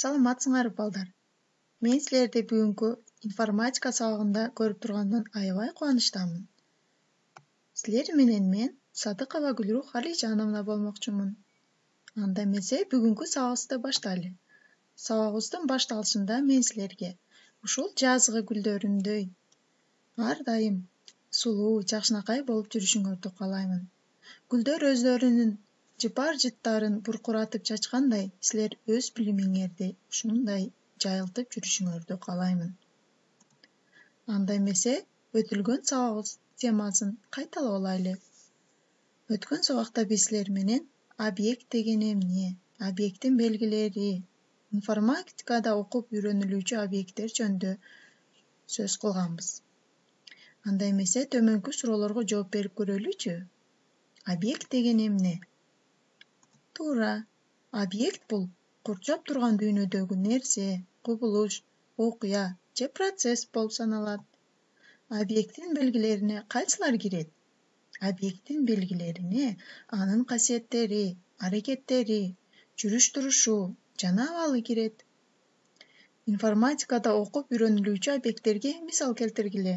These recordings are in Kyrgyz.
Саламатсыңарбы балдар? Мен силерди бүгүнкү информатика сабагында көрүп тургандан аябай кубанычтамын. Силер менен мен Садыкова Гүлрух Алижановна болмокчумун. Анда эмесе бүгүнкү сабагыбызды баштайлы. Сабагыбыздын башталышында мен силерге ушул жазгы гүлдөрүндөй ар дайым сулуу, жакшынакай болуп жүрүшүңөрдү каалаймын. Гүлдөр өздөрүнүн жыпар жыттарын буркуратып чачкандай, силер өз билимиңерди ушундай жайылтып жүрүшүңөрдү каалаймын. Анда эмесе өтүлгөн сабагыбыз темасын кайталап алайлы. Өткөн сабакта биз силер менен объект деген эмне, объекттин белгилери, информатикада окуп үйрөнүлүүчү объекттер жөнүндө сөз кылганбыз. Анда эмесе төмөнкү суроолорго жооп берип көрөлүчү. Объект деген эмне? Туура. Объект бул курчап турган дүйнөдөгү нерсе, кубулуш, окуя же процесс болуп саналат. Объекттин белгилерине кайсылар кирет? Объекттин белгилерине анын касиеттери, аракеттери, жүрүш-турушу жана абалы кирет. Информатикада окуп үйрөнүлүүчү объекттерге мисал келтиргиле.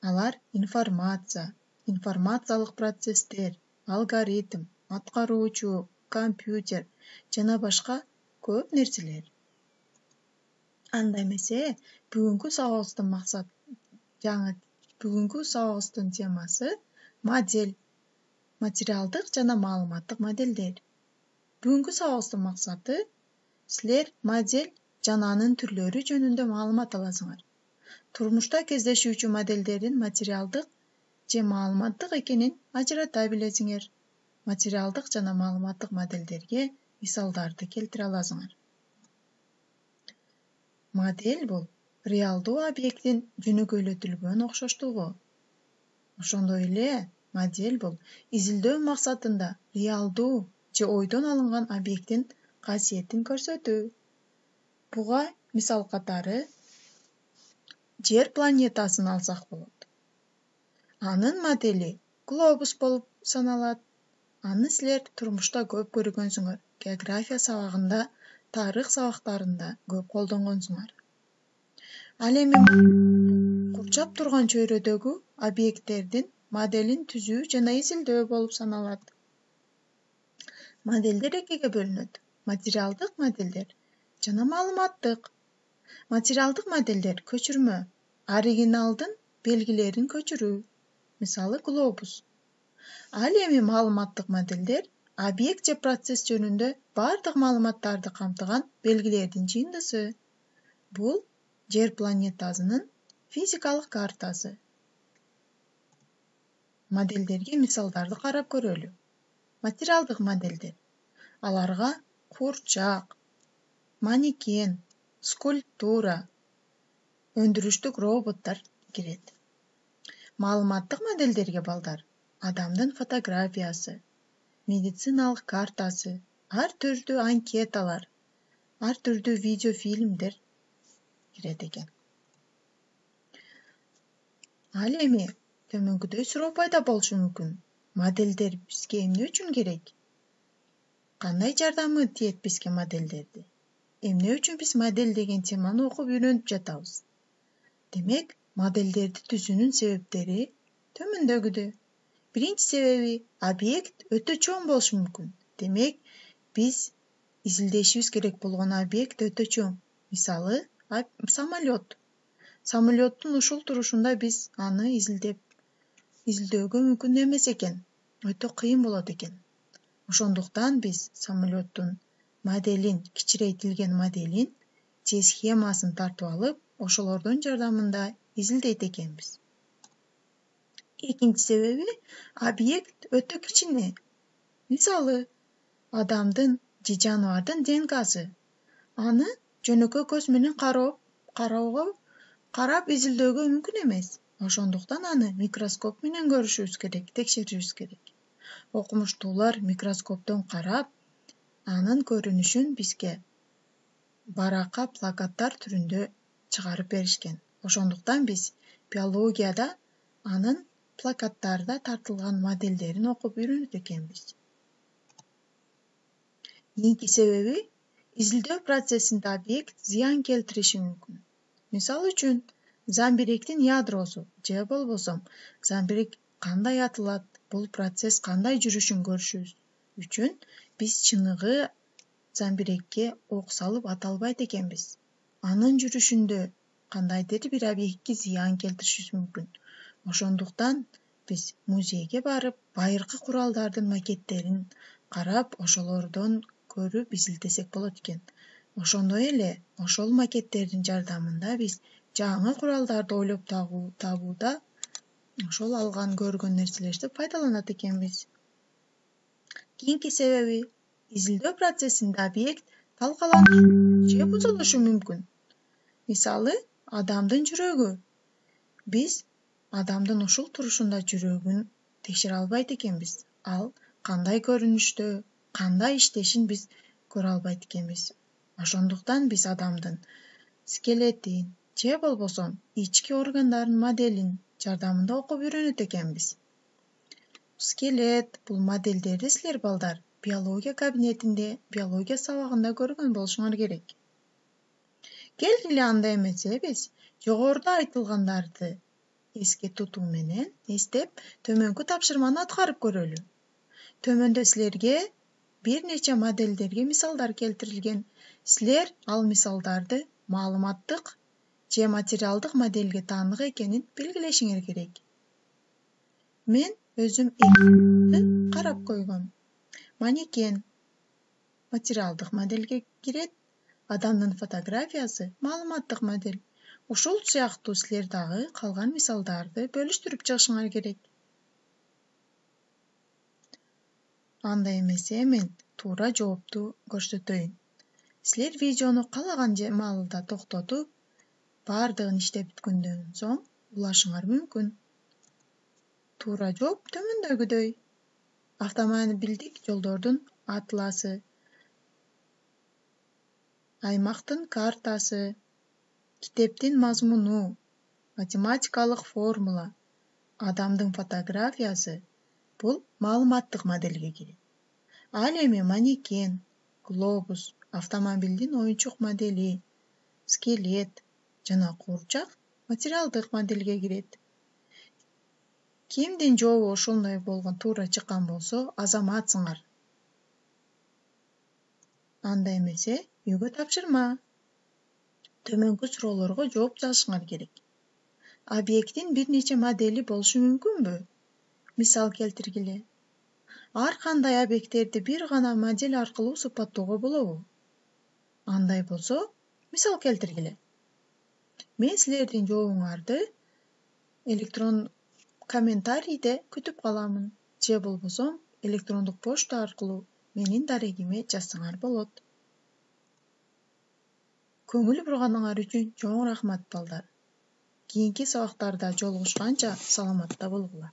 Алар информация, информациялык процесстер, алгоритм, аткаруучу, компьютер жана башка көп нерселер. Анда эмесе бүгүнкү сабагыбыздын темасы модель, материалдык жана маалыматтык модельдер. Бүгүнкү сабагыбыздын максаты силер модель жана анын түрлөрү жөнүндө маалымат аласыңар. Турмушта кездешүүчү модельдердин материалдык же маалыматтык экенин ажырата билесиңер. Материалдык жана маалыматтык модельдерге мисалдарды келтире аласыңар. Модель бул реалдуу объекттин жөнөкөйлөтүлгөн окшоштугу. Ошондой эле модель бул изилдөө максатында реалдуу же ойдон алынган объекттин касиетин көрсөтүү. Буга мисал катары Жер планетасын алсак болот. Анын модели глобус болуп саналат. Аны силер турмушта көп көргөнсүңөр. География сабагында, тарых сабактарында көп колдонгонсуңар. Ал эми курчап турган чөйрөдөгү объекттердин моделин түзүү жана изилдөө болуп саналат. Модельдер экиге бөлүнөт: материалдык модельдер жана маалыматтык. Материалдык модельдер көчүрмө, оригиналдын белгилерин көчүрүү, мисалы глобус. Ал эми маалыматтык модельдер объект же процесс жөнүндө бардык маалыматтарды камтыган белгилердин жыйындысы. Бул Жер планетасынын физикалык картасы. Модельдерге мисалдарды карап көрөлү. Материалдык модельдер. Аларга курчак, манекен, скульптура, өндүрүштүк роботтор кирет. Маалыматтык модельдерге балдар адамдын фотографиясы, медициналык картасы, ар түрдүү анкеталар, ар түрдүү видеофильмдер кирет экен. Ал эми төмөнкүдөй суроо пайда болушу мүмкүн. Модельдер бизге эмне үчүн керек? Кандай жардамы тиет бизге модельдерди? Эмне үчүн биз модель деген теманы окуп үйрөнүп жатабыз? Демек, модельдерди түзүүнүн себептери төмөндөгүдөй. Биринчи себеби объект өтө чоң болушу мүмкүн. Демек, биз изилдешибиз керек болгон объект өтө чоң. Мисалы, самолет. Самолеттун ушул турушунда биз аны изилдөөгө мүмкүн эмес экен. Өтө кыйын болот экен. Ошондуктан биз самолеттун моделин, кичирейтилген моделин же схемасын тартып алып, ошолордун жардамында изилдейт экенбиз. Экинчи себеби объект өтө кичине. Мисалы, адамдын же жаныбардын ДНКсы. Аны жөнөкөй көз менен карап изилдөөгө мүмкүн эмес. Ошондуктан аны микроскоп менен көрүшүбүз керек, текшеришибиз керек. Окумуштуулар микроскоптон карап, анын көрүнүшүн бизге баракка плакаттар түрүндө чыгарып беришкен. Ошондуктан биз биологияда анын плакаттарда тартылган модельдерин окуп үйрөнөт экенбиз. Кийинки себеби Изилдөө процессинде объект зыян келтириши мүмкүн. Мисалы үчүн, замбиректин ядросу же болбосо замбирек кандай атылат, бул процесс кандай жүрүшүн көрүшүбүз үчүн биз чыныгы замбирекке ок салып ата албайт экенбиз. Анын жүрүшүндө кандайдыр бир объектке зыян келтиришибиз мүмкүн. Ошондуктан биз музейге барып, байыркы куралдардын макеттерин карап, ошолордон көрүп изилдесек болот экен. Ошондой эле ошол макеттердин жардамында биз жаңы куралдарды ойлоп табууда ошол алган көргөн нерселерди пайдаланат экенбиз. Кийинки себеби, изилдөө процессинде объект талкаланышы же бузулушу мүмкүн. Мисалы, адамдын жүрөгү. Биз адамдын ушул турушунда жүрөгүн текшере албайт экенбиз. Ал кандай көрүнүштө, кандай иштешин биз көрө албайт экенбиз. Ошондуктан биз адамдын скелетин же болбосо ички органдардын моделин жардамында окуп үйрөнөт экенбиз. Скелет, бул модельдерди силер балдар биология кабинетинде, биология сабагында көргөн болушуңар керек. Келгиле анда эмесе биз жогоруда айтылгандарды эске тутуу менен эстеп төмөнкү тапшырманы аткарып көрөлү. Төмөндө силерге бир нече модельдерге мисалдар келтирилген. Силер ал мисалдарды маалыматтык же материалдык модельге таандык экенин белгилешиңер керек. Мен өзүм карап койгом. Манекен материалдык модельге кирет, адамдын фотографиясы маалыматтык модель. Ушул сыяктуу силер дагы калган мисалдарды бөлүштүрүп чыгышыңар керек. Анда эмесе мен туура жоопту көрсөтөйүн. Силер видеону каалаган маалда токтотуп, баардыгын иштеп бүткөндөн соң улашыңар мүмкүн. Туура жооп төмөндөгүдөй. Автомобилдик жолдордун атласы, аймактын картасы, китептин мазмуну, математикалык формула, адамдын фотографиясы бул маалыматтык модельге кирет. Ал эми манекен, глобус, автомобилдин оюнчук модели, скелет жана куурчак материалдык модельге кирет. Кимдин жообу ошондой болгон туура чыккан болсо, азаматсыңар. Анда эмесе үйгө тапшырма. Төмөнкү суроолорго жооп жазышыңар керек. Объекттин бир нече модели болушу мүмкүнбү? Мисал келтиргиле. Ар кандай объекттерди бир гана модель аркылуу сыпаттоого болобу? Андай болсо, мисал келтиргиле. Мен силердин жообуңарды электрон комментарийде күтүп каламын, же болбосо электрондук почта аркылуу менин дарегиме жазсаңар болот. Көңүл бурганыңар үчүн чоң рахмат балдар. Кийинки сабактарда жолугушканча саламатта болгула.